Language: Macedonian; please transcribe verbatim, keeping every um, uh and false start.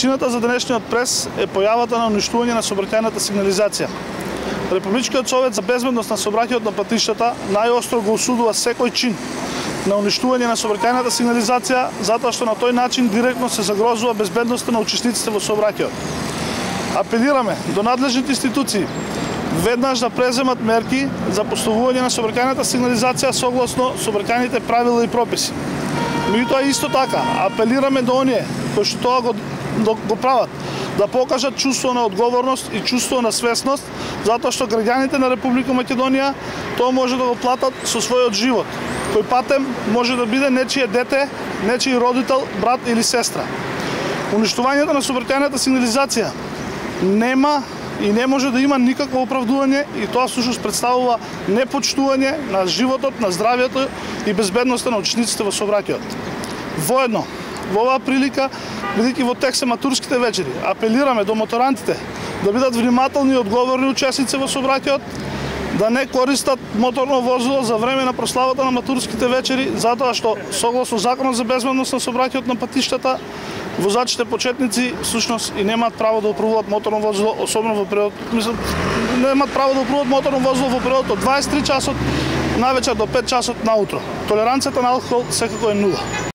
Причината за денешниот прес е појавата на уништување на сообраќајната сигнализација. Републичкиот совет за безбедност на сообраќајот на патиштата најостро го осудува секој чин на уништување на сообраќајната сигнализација, затоа што на тој начин директно се загрозува безбедноста на учесниците во сообраќајот. Апелираме до надлежните институции веднаш да преземат мерки за поставување на сообраќајната сигнализација согласно сообраќајните правила и прописи. Меѓутоа исто така апелираме до оние кои што тоа го, го прават да покажат чувство на одговорност и чувство на свесност, затоа што граѓаните на Република Македонија тоа може да го платат со својот живот, кој патем може да биде нечие дете, нечиј родител, брат или сестра. Уништувањето на сообраќајната сигнализација нема и не може да има никакво оправдување и тоа всушност представува непочтување на животот, на здравјето и безбедноста на учесниците во сообраќајот. Воедно, во оваа прилика, бидејќи во тек се матурските вечери, апелираме до моторантите да бидат внимателни и одговорни учесници во сообраќајот, да не користат моторно возило за време на прославата на матурските вечери, затоа што согласно Законот за безбедност на сообраќајот на патиштата, возачите почетници всушност и немаат право да управуваат моторно возило, особено во период, мислам, немаат право да управуваат моторно возило во период од дваесет и три часот навечер до пет часот наутро. Толеранцијата на алкохол секако е нула.